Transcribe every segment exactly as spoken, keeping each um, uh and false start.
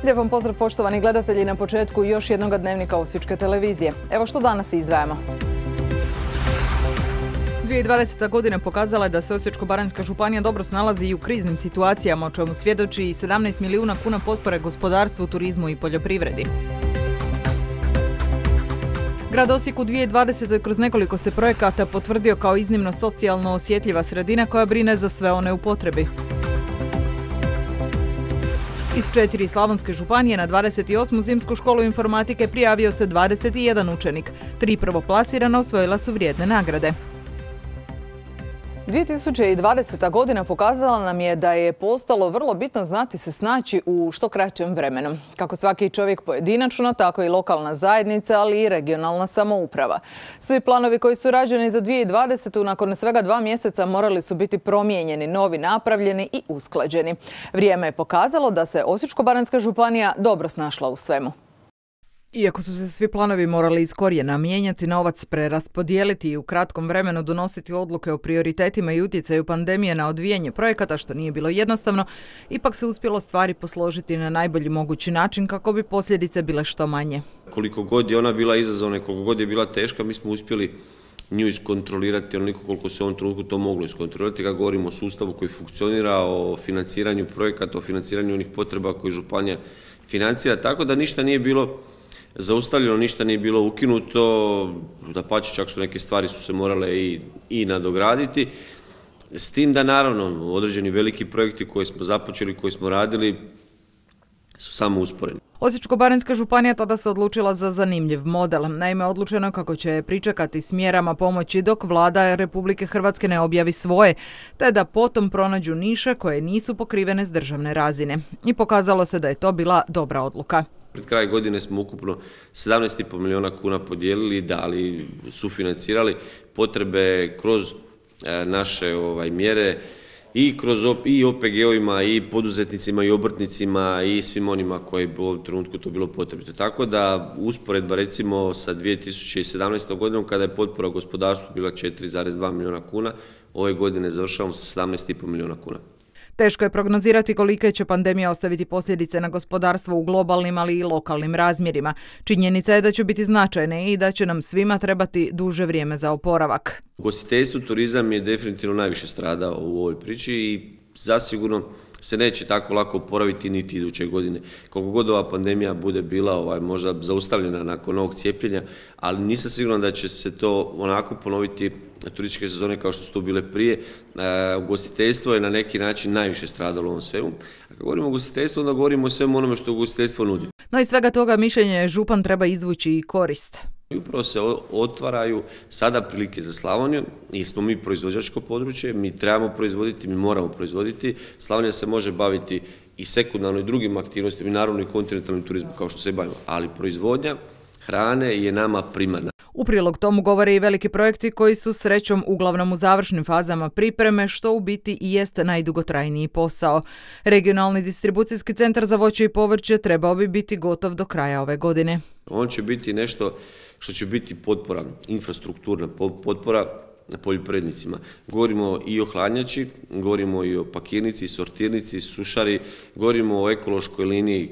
Lijep vam pozdrav poštovani gledatelji na početku još jednog dnevnika Osječke televizije. Evo što danas izdvajamo. dvije tisuće dvadeseta godina pokazala je da se Osječko-baranjska županija dobro snalazi i u kriznim situacijama, o čemu svjedoči i sedamnaest milijuna kuna potpore gospodarstvu, turizmu i poljoprivredi. Grad Osijek u dvije tisuće dvadesetoj kroz nekoliko se projekata potvrdio kao iznimno socijalno osjetljiva sredina koja brine za sve one u potrebi. Iz četiri slavonske županije na dvadeset osmu zimsku školu informatike prijavio se dvadeset jedan učenik. Tri prvoplasirana osvojila su vrijedne nagrade. dvije tisuće dvadeseta godina pokazala nam je da je postalo vrlo bitno znati se snaći u što kraćem vremenu. Kako svaki čovjek pojedinačno, tako i lokalna zajednica, ali i regionalna samouprava. Svi planovi koji su rađeni za dvije tisuće dvadesetu nakon svega dva mjeseca morali su biti promijenjeni, novi napravljeni i usklađeni. Vrijeme je pokazalo da se Osječko-baranjska županija dobro snašla u svemu. Iako su se svi planovi morali iz korijena mijenjati, novac preraspodijeliti i u kratkom vremenu donositi odluke o prioritetima i utjecaju pandemije na odvijanje projekata, što nije bilo jednostavno, ipak se uspjelo stvari posložiti na najbolji mogući način kako bi posljedice bile što manje. Koliko god je ona bila izazovna i koliko god je bila teška, mi smo uspjeli nju iskontrolirati onoliko koliko se u ovom trenutku to moglo iskontrolirati. Kad govorimo o sustavu koji funkcionira, o financiranju projekata, o financiranju onih potreba koje županija financira, tako da ništa nije bilo zaustavljeno, ništa nije bilo ukinuto, dapače, čak su neke stvari su se morale i, i nadograditi. S tim da naravno određeni veliki projekti koje smo započeli, koje smo radili su samo usporeni. Osječko-baranjska županija tada se odlučila za zanimljiv model. Naime, odlučeno kako će pričekati s mjerama pomoći dok vlada Republike Hrvatske ne objavi svoje, te da potom pronađu niše koje nisu pokrivene s državne razine. I pokazalo se da je to bila dobra odluka. Pred kraj godine smo ukupno sedamnaest i pol milijuna kuna podijelili, dali, sufinancirali potrebe kroz naše ovaj, mjere i kroz i O P G-ovima i poduzetnicima i obrtnicima i svim onima koji u ovom trenutku to bilo potrebito. Tako da usporedba recimo sa dvije tisuće sedamnaestom godinom kada je potpora gospodarstvu bila četiri zarez dva milijuna kuna, ove godine završavamo sa sedamnaest i pol milijuna kuna. Teško je prognozirati kolike će pandemija ostaviti posljedice na gospodarstvo u globalnim, ali i lokalnim razmjerima. Činjenica je da će biti značajne i da će nam svima trebati duže vrijeme za oporavak. Ugostiteljstvo, turizam je definitivno najviše stradao u ovoj priči i zasigurno se neće tako lako oporaviti niti iduće godine. Koliko god ova pandemija bude bila ovaj, možda zaustavljena nakon ovog cijepljenja, ali nisam siguran da će se to onako ponoviti turističke sezone kao što su to bile prije. E, ugostiteljstvo je na neki način najviše stradalo u ovom svemu. A kad govorimo o ugostiteljstvu, onda govorimo o svemu onome što ugostiteljstvo nudi. No i svega toga mišljenje župan treba izvući i korist. I upravo se otvaraju sada prilike za Slavoniju i smo mi proizvođačko područje, mi trebamo proizvoditi, mi moramo proizvoditi. Slavonija se može baviti i sekundarno i drugim aktivnostima i naravno i kontinentalnim turizmom kao što se bavimo, ali proizvodnja hrane je nama primarna. U prilog tomu govore i veliki projekti koji su srećom uglavnom u završnim fazama pripreme, što u biti i jeste najdugotrajniji posao. Regionalni distribucijski centar za voće i povrće trebao bi biti gotov do kraja ove godine. On će biti nešto što će biti potpora, infrastrukturna potpora poljoprivrednicima. Govorimo i o hladnjači, govorimo i o pakirnici, sortirnici, sušari, govorimo o ekološkoj liniji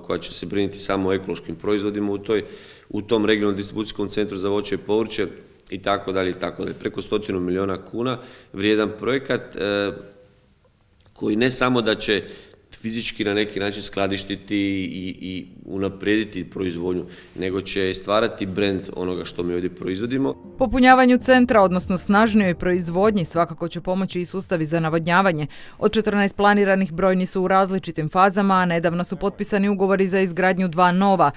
koja će se brinuti samo o ekološkim proizvodima u toj u tom regionalnom distribucijskom centru za voće i povrće i tako dalje i tako dalje. Preko stotinu milijuna kuna vrijedan projekat e, koji ne samo da će fizički na neki način skladištiti i, i unaprijediti proizvodnju, nego će stvarati brend onoga što mi ovdje proizvodimo. Popunjavanju centra, odnosno snažnijoj proizvodnji, svakako će pomoći i sustavi za navodnjavanje. Od četrnaest planiranih brojni su u različitim fazama, a nedavno su potpisani ugovori za izgradnju dva nova.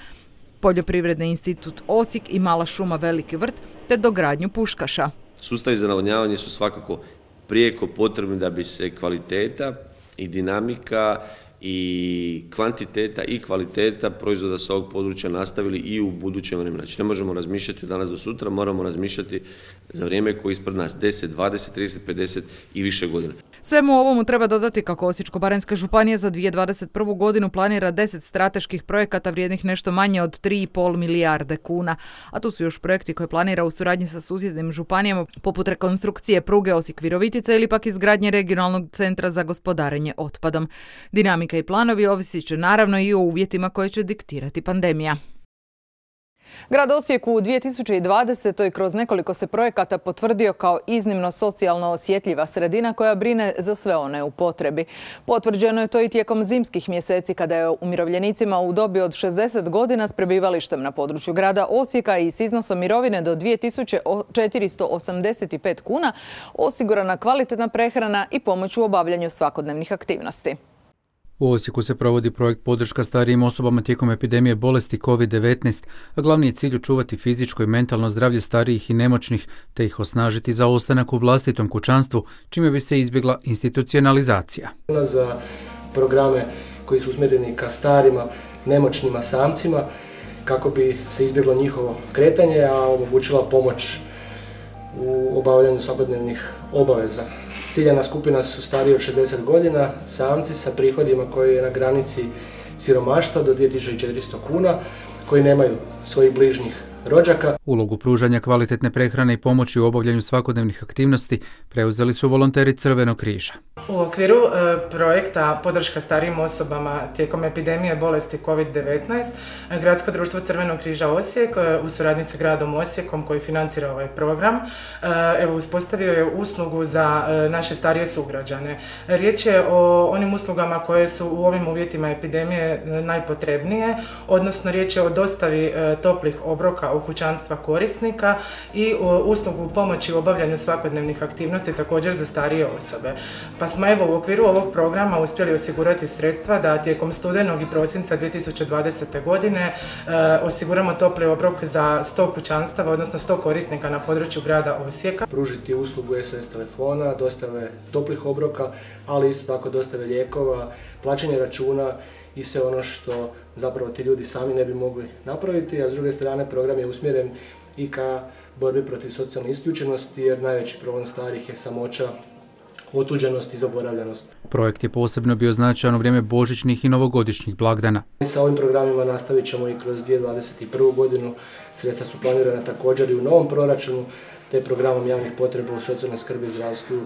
Poljoprivredni institut Osijek i Mala šuma Veliki vrt, te dogradnju Puškaša. Sustavi za navodnjavanje su svakako prijeko potrebni da bi se kvaliteta i dinamika i kvantiteta i kvaliteta proizvoda sa ovog područja nastavili i u budućem vremenu. Znači ne možemo razmišljati od danas do sutra, moramo razmišljati za vrijeme koje je ispred nas, deset, dvadeset, trideset, pedeset i više godina. Svemu ovomu treba dodati kako Osječko-baranjska županija za dvije tisuće dvadeset prvu godinu planira deset strateških projekata vrijednih nešto manje od tri i pol milijarde kuna. A tu su još projekti koje planira u suradnji sa susjednim županijama poput rekonstrukcije pruge Osijek-Virovitica ili pak izgradnje regionalnog centra za gospodarenje otpadom. Dinamika i planovi ovisit će naravno i o uvjetima koje će diktirati pandemija. Grad Osijek u dvije tisuće dvadesetoj kroz nekoliko se projekata potvrdio kao iznimno socijalno osjetljiva sredina koja brine za sve one u potrebi. Potvrđeno je to i tijekom zimskih mjeseci kada je umirovljenicima u dobi od šezdeset godina s prebivalištem na području grada Osijeka i s iznosom mirovine do dvije tisuće četiristo osamdeset pet kuna osigurana kvalitetna prehrana i pomoć u obavljanju svakodnevnih aktivnosti. U Osijeku se provodi projekt podrška starijim osobama tijekom epidemije bolesti kovid devetnaest, a glavni je cilj očuvati fizičko i mentalno zdravlje starijih i nemoćnih, te ih osnažiti za ostanak u vlastitom kućanstvu, čime bi se izbjegla institucionalizacija. Za programe koji su usmjereni ka starima, nemoćnima samcima, kako bi se izbjeglo njihovo kretanje, a omogućila pomoć u obavljanju svakodnevnih obaveza. Ciljana skupina su stariji od šezdeset godina, samci sa prihodima koji je na granici siromaštva do dvije tisuće četiristo kuna, koji nemaju svojih bližnjih rođaka. Ulogu pružanja kvalitetne prehrane i pomoći u obavljanju svakodnevnih aktivnosti preuzeli su volonteri Crvenog križa. U okviru e, projekta podrška starijim osobama tijekom epidemije bolesti kovid devetnaest, Gradsko društvo Crvenog križa Osijek e, u suradnji sa gradom Osijekom koji financira ovaj program, e, evo, uspostavio je uslugu za e, naše starije sugrađane. Riječ je o onim uslugama koje su u ovim uvjetima epidemije najpotrebnije, odnosno riječ je o dostavi e, toplih obroka u kućanstva korisnika i uslugu pomoći u obavljanju svakodnevnih aktivnosti također za starije osobe. Pa smo evo u okviru ovog programa uspjeli osigurati sredstva da tijekom studenog i prosinca dvije tisuće dvadesete godine e, osiguramo topli obrok za sto kućanstava, odnosno sto korisnika na području grada Osijeka. Pružiti uslugu S O S telefona, dostave toplih obroka, ali isto tako dostave lijekova, plaćanje računa i sve ono što zapravo ti ljudi sami ne bi mogli napraviti, a s druge strane program je usmjeren i ka borbi protiv socijalne isključenosti, jer najveći problem starih je samoća, otuđenost i zaboravljenost. Projekt je posebno bio značajan u vrijeme božićnih i novogodišnjih blagdana. Sa ovim programima nastavit ćemo i kroz dvije tisuće dvadeset prvu godinu. Sredstva su planirana također i u novom proračunu, te programom javnih potreba u socijalnoj skrbi, zdravstvu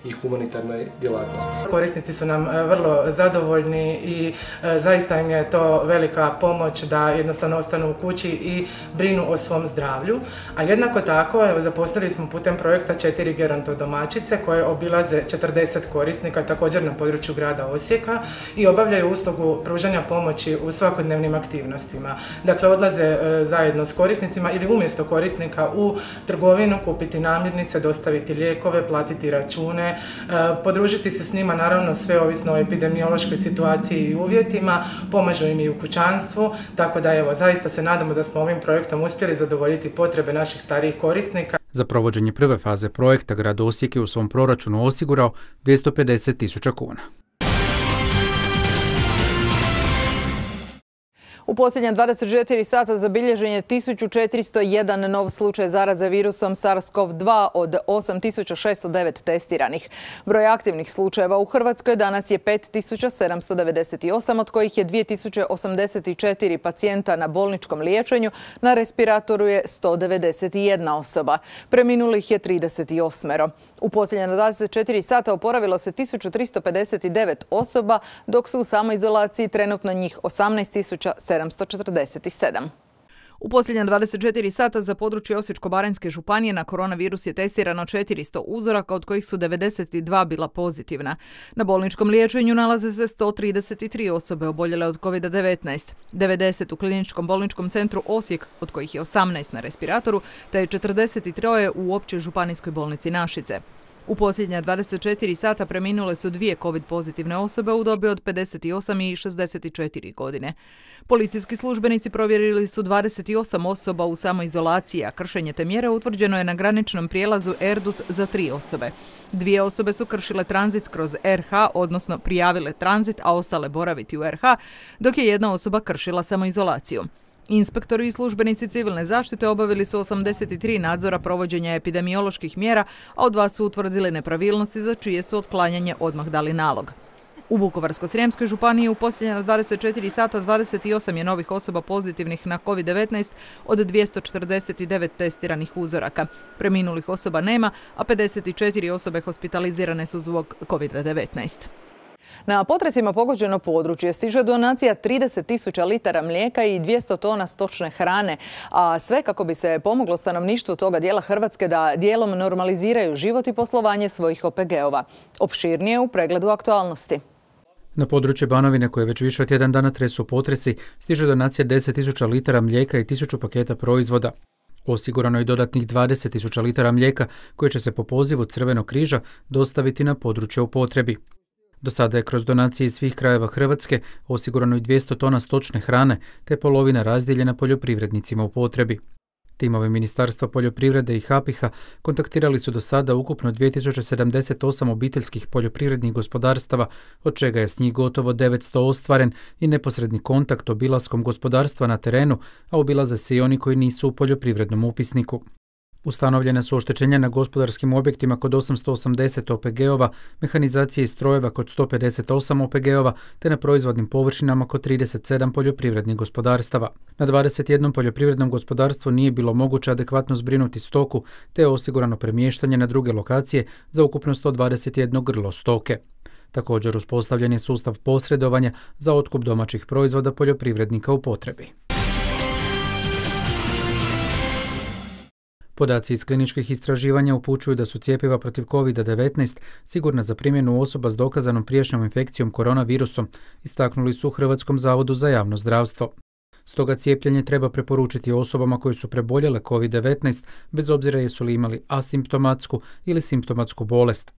i humanitarnoj djelatnosti. Korisnici su nam vrlo zadovoljni i zaista im je to velika pomoć da jednostavno ostanu u kući i brinu o svom zdravlju. A jednako tako evo, zaposlili smo putem projekta četiri gerontodomaćice koje obilaze četrdeset korisnika također na području grada Osijeka i obavljaju uslugu pružanja pomoći u svakodnevnim aktivnostima. Dakle, odlaze zajedno s korisnicima ili umjesto korisnika u trgovinu, kupiti namirnice, dostaviti lijekove, platiti račune, podružiti se s njima, naravno sve ovisno o epidemiološkoj situaciji i uvjetima, pomažu im i u kućanstvu, tako da evo, zaista se nadamo da smo ovim projektom uspjeli zadovoljiti potrebe naših starijih korisnika. Za provođenje prve faze projekta grad Osijek je u svom proračunu osigurao dvjesto pedeset tisuća kuna. U posljednja dvadeset četiri sata zabilježen je tisuću četiristo jedan nov slučaj zaraze virusom SARS-CoV dva od osam tisuća šesto devet testiranih. Broj aktivnih slučajeva u Hrvatskoj danas je pet tisuća sedamsto devedeset osam, od kojih je dvije tisuće osamdeset četiri pacijenta na bolničkom liječenju, na respiratoru je sto devedeset jedna osoba. Preminulih je trideset osam. U posljednja dvadeset četiri sata oporavilo se tisuću tristo pedeset devet osoba, dok su u samoizolaciji trenutno njih osamnaest tisuća sedamsto četrdeset sedam. U posljednja dvadeset četiri sata za područje Osječko-baranjske županije na koronavirus je testirano četiristo uzoraka, od kojih su devedeset dva bila pozitivna. Na bolničkom liječenju nalaze se sto trideset tri osobe oboljele od kovid devetnaest, devedeset u kliničkom bolničkom centru Osijek, od kojih je osamnaest na respiratoru, te je četrdeset tri u općoj županijskoj bolnici Našice. U posljednja dvadeset četiri sata preminule su dvije covid pozitivne osobe u dobi od pedeset osam i šezdeset četiri godine. Policijski službenici provjerili su dvadeset osam osoba u samoizolaciji, a kršenje te mjere utvrđeno je na graničnom prijelazu Erdut za tri osobe. Dvije osobe su kršile tranzit kroz er ha, odnosno prijavile tranzit, a ostale boraviti u er ha, dok je jedna osoba kršila samoizolaciju. Inspektori i službenici civilne zaštite obavili su osamdeset tri nadzora provođenja epidemioloških mjera, a od dva su utvrdili nepravilnosti za čije su otklanjanje odmah dali nalog. U Vukovarsko-srijemskoj županiji u posljednja dvadeset četiri sata dvadeset osam je novih osoba pozitivnih na kovid devetnaest od dvjesto četrdeset devet testiranih uzoraka. Preminulih osoba nema, a pedeset četiri osobe hospitalizirane su zbog kovid devetnaest. Na potresima pogođeno područje stiže donacija trideset tisuća litara mlijeka i dvjesto tona stočne hrane, a sve kako bi se pomoglo stanovništvu toga dijela Hrvatske da dijelom normaliziraju život i poslovanje svojih O P G-ova. Opširnije u pregledu aktualnosti. Na područje Banovine, koje već više od jedan dana tresu potresi, stiže donacija deset tisuća litara mlijeka i tisuću paketa proizvoda. Osigurano je dodatnih dvadeset tisuća litara mlijeka koje će se po pozivu Crvenog križa dostaviti na područje u potrebi. Do sada je kroz donacije iz svih krajeva Hrvatske osigurano i dvjesto tona stočne hrane, te polovina razdijeljena poljoprivrednicima u potrebi. Timovi Ministarstva poljoprivrede i Hapiha kontaktirali su do sada ukupno dvije tisuće sedamdeset osam obiteljskih poljoprivrednih gospodarstava, od čega je s njih gotovo devetsto ostvaren i neposredni kontakt obilaskom gospodarstva na terenu, a obilaze se i oni koji nisu u poljoprivrednom upisniku. Ustanovljena su oštećenja na gospodarskim objektima kod osamsto osamdeset O P G-ova, mehanizacije i strojeva kod sto pedeset osam O P G-ova, te na proizvodnim površinama kod trideset sedam poljoprivrednih gospodarstava. Na dvadeset jednom poljoprivrednom gospodarstvu nije bilo moguće adekvatno zbrinuti stoku, te je osigurano premještanje na druge lokacije za ukupno sto dvadeset jedno grlo stoke. Također uspostavljen je sustav posredovanja za otkup domaćih proizvoda poljoprivrednika u potrebi. Podaci iz kliničkih istraživanja upućuju da su cjepiva protiv kovid devetnaest sigurna za primjenu osoba s dokazanom prijašnjom infekcijom koronavirusom, istaknuli su u Hrvatskom zavodu za javno zdravstvo. Stoga cijepljenje treba preporučiti osobama koje su preboljele kovid devetnaest, bez obzira jesu li imali asimptomatsku ili simptomatsku bolest.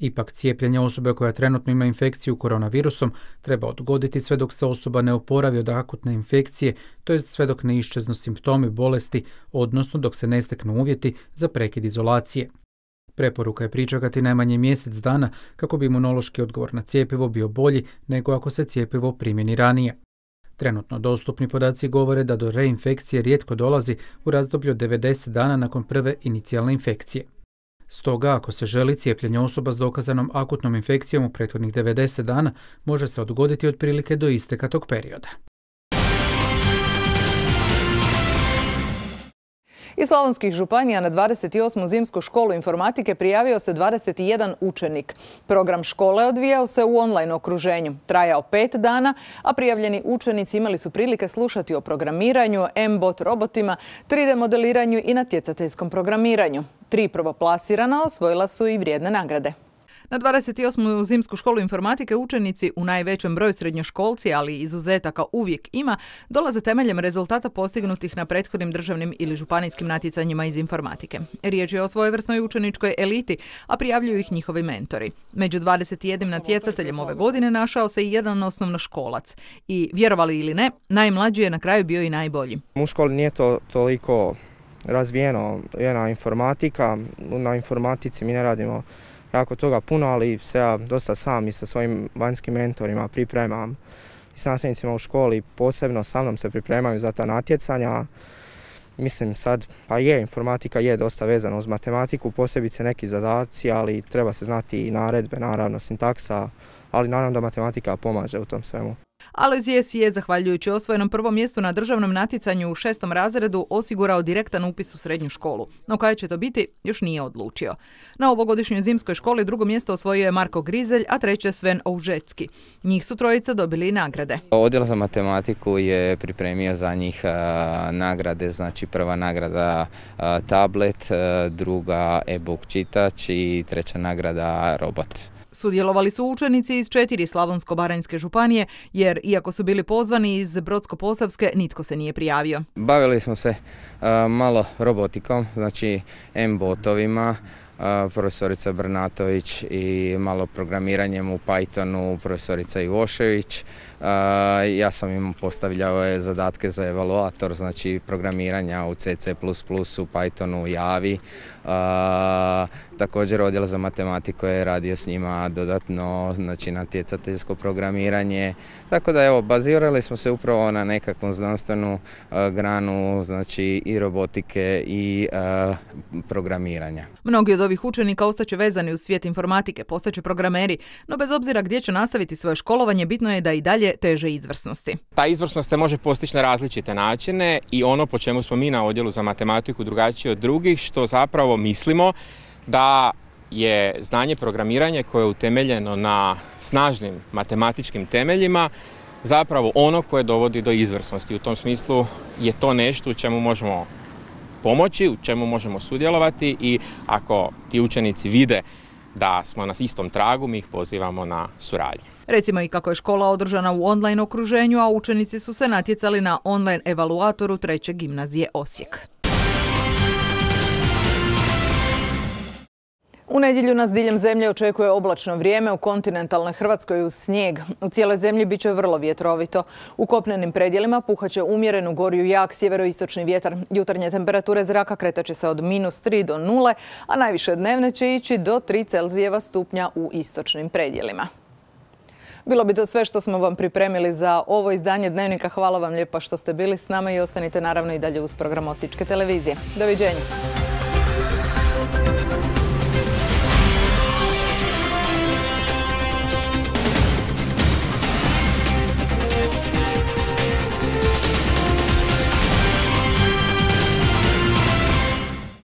Ipak cijepljenje osobe koja trenutno ima infekciju koronavirusom treba odgoditi sve dok se osoba ne oporavi od akutne infekcije, to jest sve dok ne iščeznu simptomi bolesti, odnosno dok se ne steknu uvjeti za prekid izolacije. Preporuka je pričekati najmanje mjesec dana kako bi imunološki odgovor na cjepivo bio bolji nego ako se cjepivo primjeni ranije. Trenutno dostupni podaci govore da do reinfekcije rijetko dolazi u razdoblju od devedeset dana nakon prve inicijalne infekcije. Stoga, ako se želi, cijepljenje osoba s dokazanom akutnom infekcijom u prethodnih devedeset dana može se odgoditi otprilike do isteka tog perioda. Iz slavonskih županija na dvadeset osmu zimsku školu informatike prijavio se dvadeset jedan učenik. Program škole odvijao se u online okruženju. Trajao pet dana, a prijavljeni učenici imali su prilike slušati o programiranju, M-bot robotima, tri D modeliranju i natjecateljskom programiranju. Tri prvoplasirana osvojila su i vrijedne nagrade. Na dvadeset osmu zimsku školu informatike učenici, u najvećem broju srednjoškolci, ali izuzetaka uvijek ima, dolaze temeljem rezultata postignutih na prethodnim državnim ili županijskim natjecanjima iz informatike. Riječ je o svojevrsnoj učeničkoj eliti, a prijavljuju ih njihovi mentori. Među dvadeset jednim natjecateljem ove godine našao se i jedan osnovnoškolac. I vjerovali ili ne, najmlađi je na kraju bio i najbolji. U školi nije to toliko razvijeno, jedna informatika. Na informatici mi ne radimo jako toga puno, ali se ja dosta sam i sa svojim vanjskim mentorima pripremam i s nastavnicima u školi posebno sa mnom se pripremaju za ta natjecanja. Mislim sad, pa je, informatika je dosta vezana uz matematiku, posebice neki zadaci, ali treba se znati i naredbe, naravno sintaksa, ali naravno da matematika pomaže u tom svemu. Alojzije je, zahvaljujući osvojenom prvom mjestu na državnom natjecanju u šestom razredu, osigurao direktan upis u srednju školu. No kada će to biti, još nije odlučio. Na ovogodišnjoj zimskoj školi drugo mjesto osvojio je Marko Grizelj, a treće Sven Oužetski. Njih su trojica dobili i nagrade. Odjel za matematiku je pripremio za njih a, nagrade, znači prva nagrada a, tablet, a, druga e-book čitač i treća nagrada robot. Sudjelovali su učenici iz četiri slavonsko-baranjske županije, jer iako su bili pozvani iz Brodsko-posavske, nitko se nije prijavio. Bavili smo se uh, malo robotikom, znači M-botovima, uh, profesorica Brnatović i malo programiranjem u Pythonu, profesorica Ivošević. Uh, ja sam im postavljao zadatke za evaluator, znači programiranja u C C plus plus, u Pythonu, Javi. Uh, A, također odjel za matematiku je radio s njima dodatno, znači natjecateljsko programiranje. Tako da evo, bazirali smo se upravo na nekakvom znanstvenu a, granu, znači i robotike i a, programiranja. Mnogi od ovih učenika ostaće vezani uz svijet informatike, postaće programeri, no bez obzira gdje će nastaviti svoje školovanje, bitno je da i dalje teže izvrsnosti. Ta izvrsnost se može postići na različite načine i ono po čemu smo mi na odjelu za matematiku drugačiji od drugih, što zapravo mislimo da je znanje programiranja koje je utemeljeno na snažnim matematičkim temeljima zapravo ono koje dovodi do izvrsnosti. U tom smislu je to nešto u čemu možemo pomoći, u čemu možemo sudjelovati i ako ti učenici vide da smo na istom tragu, mi ih pozivamo na suradnju. Recimo i kako je škola održana u online okruženju, a učenici su se natjecali na online evaluatoru treće gimnazije Osijek. U nedjelju nas diljem zemlje očekuje oblačno vrijeme, u kontinentalnoj Hrvatskoj uz snijeg. U cijeloj zemlji bit će vrlo vjetrovito. U kopnenim predjelima puhaće umjeren u gorju jak sjeveroistočni vjetar. Jutarnje temperature zraka kretat će se od minus tri do nule, a najviše dnevne će ići do tri Celzijeva stupnja u istočnim predjelima. Bilo bi to sve što smo vam pripremili za ovo izdanje Dnevnika. Hvala vam lijepa što ste bili s nama i ostanite naravno i dalje uz program Osječke televizije. Doviđenja.